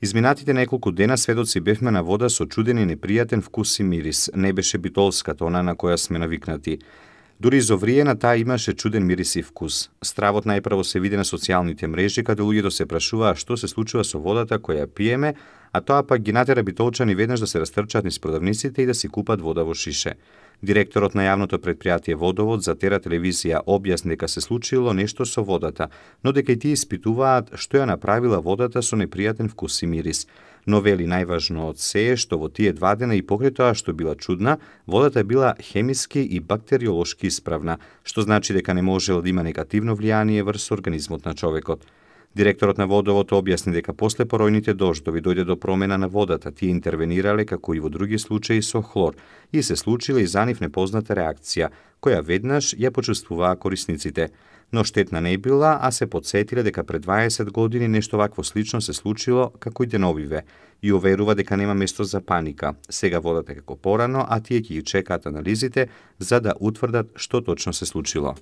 Изминатите неколку дена сведоци бевме на вода со чуден и непријатен вкус и мирис. Не беше битолската, она на која сме навикнати. Дури изовриена таа имаше чуден мирис и вкус. Стравот најпрво се види на социјалните мрежи, каде луѓето се прашуваа што се случува со водата која пиеме, а тоа пак ги натера битолчани веднаш да се растрчаат низ продавниците и да си купат вода во шише. Директорот на јавното претпријатие Водовод за Тера телевизија објасни дека се случило нешто со водата, но дека и тие испитуваат што ја направила водата со непријатен вкус и мирис. Но вели најважно од се е што во тие 2 дена и покрај тоа што била чудна, водата била хемиски и бактериолошки исправна, што значи дека не можела да има негативно влијание врз организмот на човекот. Директорот на Водовод објасни дека после поројните дождови дојде до промена на водата, тие интервенирале како и во други случаи со хлор и се случила и за нив непозната реакција, која веднаш ја почувствуваа корисниците. Но штетна не била, а се потсетиле дека пред 20 години нешто вакво слично се случило како и деновиве и уверува дека нема место за паника. Сега водата како порано, а тие ќе ги чекаат анализите за да утврдат што точно се случило.